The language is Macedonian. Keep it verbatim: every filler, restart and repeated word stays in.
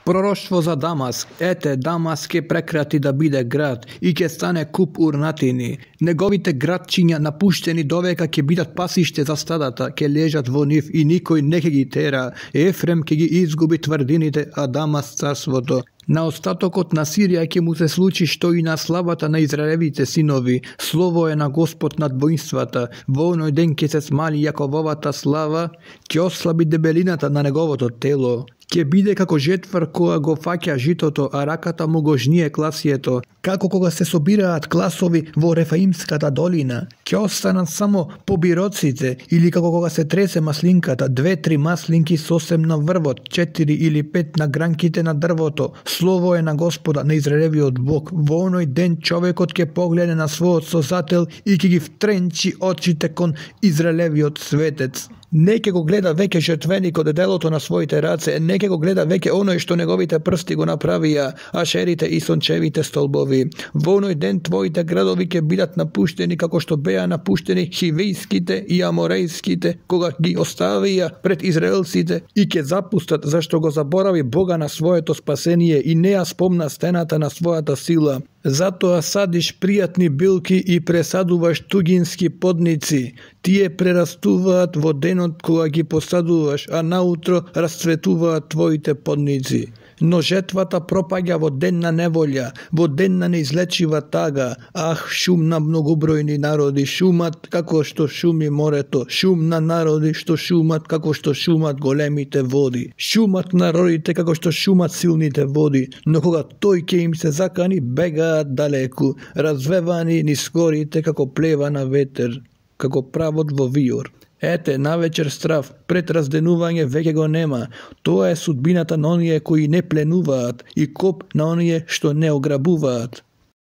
Пророштво за Дамаск. Ете, Дамаск ќе прекрати да биде град и ќе стане куп урнатини. Неговите градчиња напуштени довека ќе бидат пасиште за стадата, ќе лежат во нив и никој не ќе ги тера. Ефрем ќе ги изгуби тврдините, а Дамаск царството. На остатокот на Сирија ќе му се случи што и на славата на Израелевите синови. Слово е на Господ над воинствата. Во оној ден ќе се смали Јакововата слава, ќе ослаби дебелината на неговото тело. Ќе биде како жетвар која го фаќа житото, а раката му го жние класието. Како кога се собираат класови во Рефаимската долина. Ќе останат само побироците, или како кога се тресе маслинката, две-три маслинки сосем на врвот, четири или пет на гранките на дрвото. Слово е на Господа, на Израелевиот Бог. Во оној ден човекот ќе погледне на својот Созател и ќе ги втренчи очите кон Израелевиот светец. Не ќе го гледа веќе жртвеникот делото на своите раце, не ќе го гледа веќе оној што неговите прсти го направија, ашерите и сончевите столбови. Во оној ден твоите градови ќе бидат напуштени како што беа напуштени хивејските и аморејските, кога ги оставија пред израелците и ќе запустат зашто го заборави Бога на своето спасение и не ја спомна стената на својата сила. Затоа садиш пријатни билки и пресадуваш тугински подници. Тие прерастуваат во денот кога ги посадуваш, а наутро расцветуваат твоите подници. Но жетвата пропаѓа во ден на неволја, во ден на неизлечива тага. Ах, шум на многобројни народи, шумат како што шуми морето, шум на народи што шумат како што шумат големите води. Шумат народите како што шумат силните води, но кога тој ќе им се закани, бегаат далеку, развевани низ горите како плева на ветер, како правот во виор. Ете, навечер страв, пред разденување веќе го нема. Тоа е судбината на оние кои не пленуваат и коп на оние што не ограбуваат.